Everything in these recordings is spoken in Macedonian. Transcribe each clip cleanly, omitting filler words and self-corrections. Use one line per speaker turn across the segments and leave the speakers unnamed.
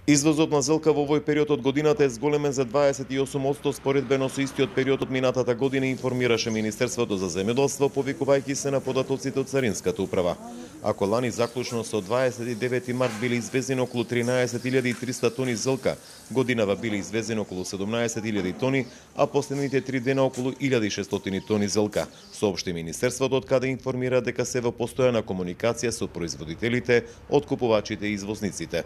Извозот на зелка во овој период од годината е зголемен за 28% споредбено со истиот период од минатата година, информираше Министерството за земјоделство, повикувајќи се на податоците од Царинската управа. Ако лани заклучно со 29 март биле извезени околу 13.300 тони зелка, годинава биле извезени околу 17.000 тони, а последните 3 дена околу 1.600 тони зелка, соопшти Министерството, од каде информира дека се во постојана комуникација со производителите, откупувачите и извозниците.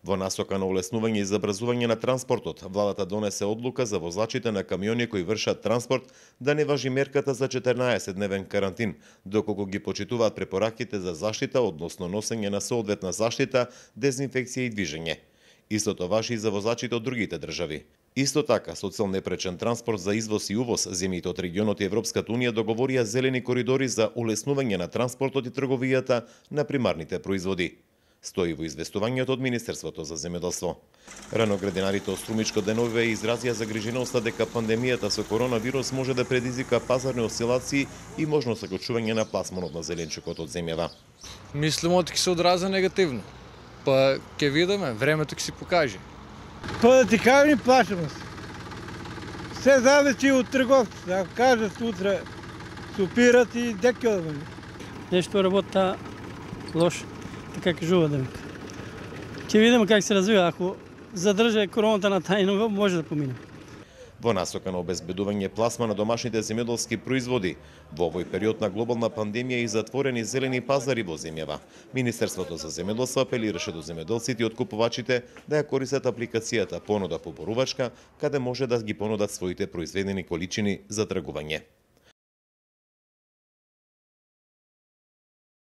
Во насока на олеснување и забрзување на транспортот, владата донесе одлука за возачите на камиони кои вршат транспорт да не важи мерката за 14-дневен карантин, доколку ги почитуваат препораките за заштита, односно носење на соодветна заштита, дезинфекција и движење. Истото важи и за возачите од другите држави. Исто така, со цел непречен транспорт за извоз и увоз, земјите од регионот и Европската унија договорија зелени коридори за олеснување на транспортот и трговијата на примарните производи. Стои во известувањето од Министерството за земјоделство. Рано градинарите од Струмичко деновиве изразија загриженоста дека пандемијата со коронавирус може да предизвика пазарни осцилации и можно сакочување на пласманот на зеленчукот од земјава.
Мислимо дека ќе се одрази негативно. Па ќе видиме, времето ќе си покаже.
Па да ти кажем, плашаме се. Се зависи од трговците, ако кажат утре супират и дека да бъде.
Нешто работа лошо. Така кажува да вика. Ќе видиме как се развива. Ако задржа короната на тај ниво, може да помине.
Во насока на обезбедување пласма на домашните земјоделски производи, во овој период на глобална пандемија и затворени зелени пазари во земјава, Министерството за земјоделство апелираше до земјоделците и откупувачите да ја користат апликацијата Понуда поборувачка, каде може да ги понудат своите произведени количини за тргување.